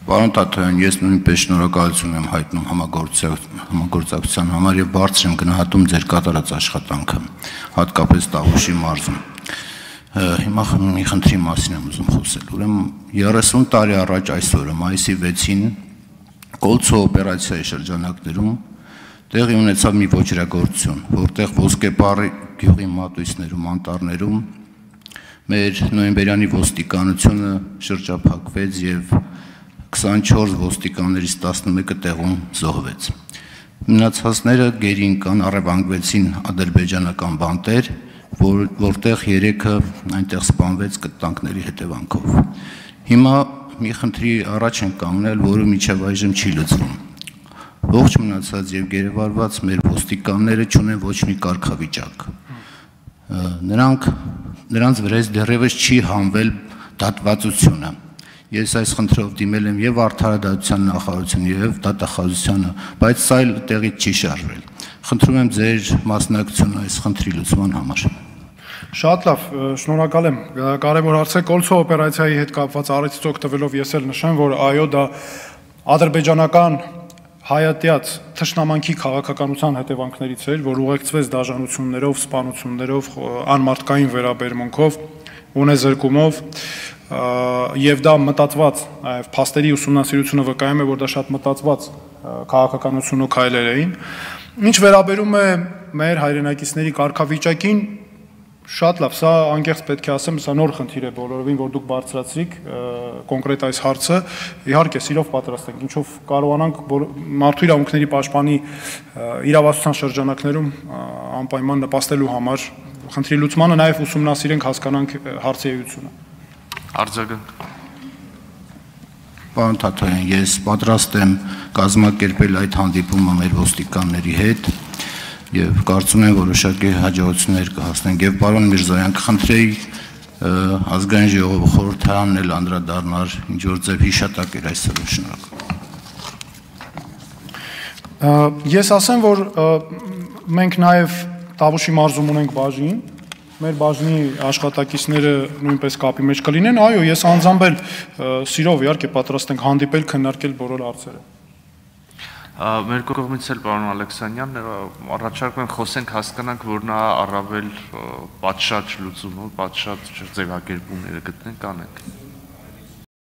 Պարոն Թաթոյան, ես նույնպես շնորհակալություն եմ հայտնում համագործակցության համար եւ բարձր եմ գնահատում ձեր կատարած աշխատանքը, հատկապես Տավուշի մարզում։ Հիմա մի խնդրի մասին եմ ուզում խոսել։ Ուրեմն 30 տարի առաջ այսօրը մայիսի 6-ին Կոլցո օպերացիայի շրջանակներում տեղի ունեցավ մի ոչրագործություն, որտեղ Ոսկեպարի գյուղի մատույցներում, անտառներում մեր նոյեմբերյանի ոստիկանությունը շրջափակվեց եւ 24 ոստիկաններից 11-ը տեղում զոհվեց։ Մնացածները գերին կան, առևանգվեցին ադրբեջանական բանտեր, որտեղ 3-ը այնտեղ սպանվեց կտանքների հետևանքով։ Հիմա մի խնդրի առաջ են կանգնել, որը մինչև այժմ չի լուծվում։ Ողջ մնացած եւ գերեվարված մեր ոստիկանները չունեն ոչ մի կարգավիճակ։ Նրանց վրա դեռևս չի հանվել դատվածությունը։ Ես այս խնդրով դիմել եմ եւ Արդարադատության նախարարությունը եւ դատախազությանը, բայց սա էլ տեղից չի շարժվել։ Խնդրում եմ ձեր մասնակցությունը այս խնդրի լուծման համար։ Շատ լավ, շնորհակալ եմ։ Կարևոր հարց է Կոլցո օպերացիայի հետ կապված առիթից օգտվելով ես էլ նշեմ, որ այո, դա ադրբեջանական հայատյաց թշնամանքի քաղաքականության հետևանքներից էր, որ ուղեկցվեց դաժանություններով, սպանություններով, անմարդկային վերաբերմունքով, ունեզրկումով եւ դա մտածված, այլ փաստերի ուսումնասիրությունը վկայում է, որ դա շատ մտածված քաղաքականություն ու քայլեր էին։ Ինչ վերաբերում է մեր հայրենակիցների կարգավիճակին, շատ լավ, սա անկեղծ պետք է ասեմ, սա նոր խնդիր է բոլորովին, որ դուք բարձրացրիք կոնկրետ այս հարցը, իհարկե սիրով պատրաստ ենք, ինչով կարողանանք մարդու իրավունքների պաշտպանի իրավասության շրջանակներում անպայման նպաստելու համար խնդրի լուծմանը նաև ուսումնասիրենք, հասկանանք հարցի էությունը։ Արձագանք։ Պարոն Թաթոյան, ես պատրաստ եմ կազմակերպել այդ հանդիպումը մեր ոստիկանների հետ եւ կարծում եմ որոշակի հաջողություններ կհասնենք եւ պարոն Միրզոյան կխնդրեի ազգային ժողովի խորհրդարանն էլ անդրադառնար ինչ որ ձև հիշատակեր այսօր շնորհակալ։ Ես ասեմ, որ մենք նաեւ Տավուշի մարզում ունենք բաժին, մեր բաժնի աշխատակիցները նույնպես կապի մեջ կլինեն, այո, ես անձամբ էլ սիրով իհարկե պատրաստ ենք հանդիպել, քննարկել բոլոր հարցերը։ Մեր կողմից էլ պարոն Ալեքսանյան, առաջարկում եմ խոսենք, հասկանանք, որ նա առավել պատշաճ լուծումը, պատշաճ ձևակերպումները գտնենք, անենք։